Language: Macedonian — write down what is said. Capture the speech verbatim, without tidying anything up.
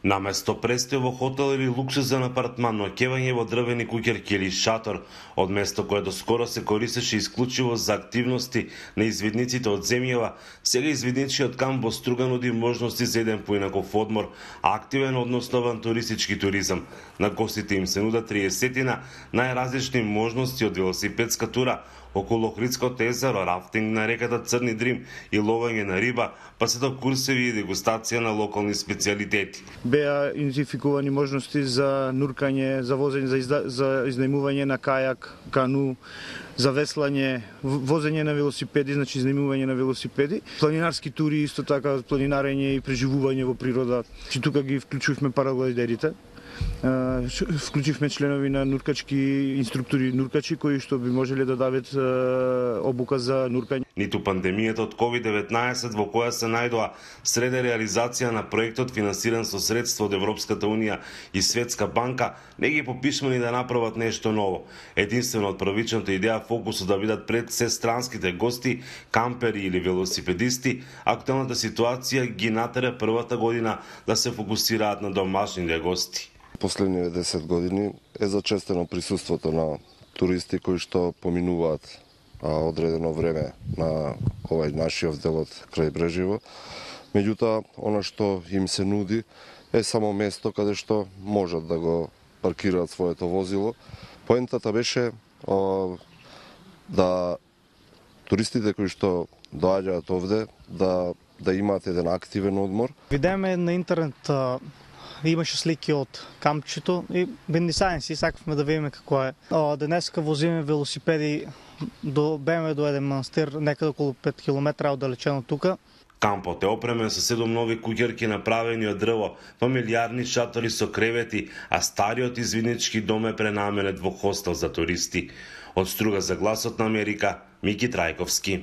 Наместо престој во хотел или луксузен апартман, ноќевање во дрвени куќерки или шатор, од место кое доскоро се користеше исклучиво за активности на извидниците од земјава, сега извидничиот камп во Струга нуди можности за еден поинаков одмор, активен односно авантуристички туризам. На гостите им се нудат триесетина најразлични можности од велосипедска тура околу Охридското езеро, рафтинг на реката Црни Дрим и ловење на риба, па се до курсеви и дегустација на локални специјалитети. Беа идентификувани можности за нуркање, за возење, за, изда, за изнајмување на кајак, кану, за веслање, возење на велосипеди, значи изнајмување на велосипеди, планинарски тури, исто така планинарење и преживување во природа. Чи тука ги вклучувме параглайдерите. Вклучивме членови на нуркачки инструктори нуркачи кои што би можеле да дадат обука за нуркање. Ниту пандемијата од ковид деветнаесет во која се најдоа среде реализација на проектот финансиран со средства од Европската унија и Светска банка не ги попишмани да направат нешто ново. Единствено од првичната идеја фокусот да бидат пред се странските гости, кампери или велосипедисти, актуелната ситуација ги натера првата година да се фокусираат на домашните гости. Последниве десет години е зачестено присуството на туристи кои што поминуваат а, одредено време на овај нашиот дел од крајбрежјево. Меѓутоа, она што им се нуди е само место каде што можат да го паркираат своето возило. Поентата беше а, да туристите кои што доаѓаат овде да да имаат еден активен одмор. Видеме на интернет а... имаше слики од кампчето и бенди сајенс и сакавме да видиме како е. Денеска возиме велосипеди до беме до еден манастир некаде околу пет километра оддалечено тука. Кампот е опремен со седум нови куќерки направени од дрво, фамилиарни шатори со кревети, а стариот извиднички дом е пренаменет во хостел за туристи. Од Струга за гласот на Америка, Мики Трајковски.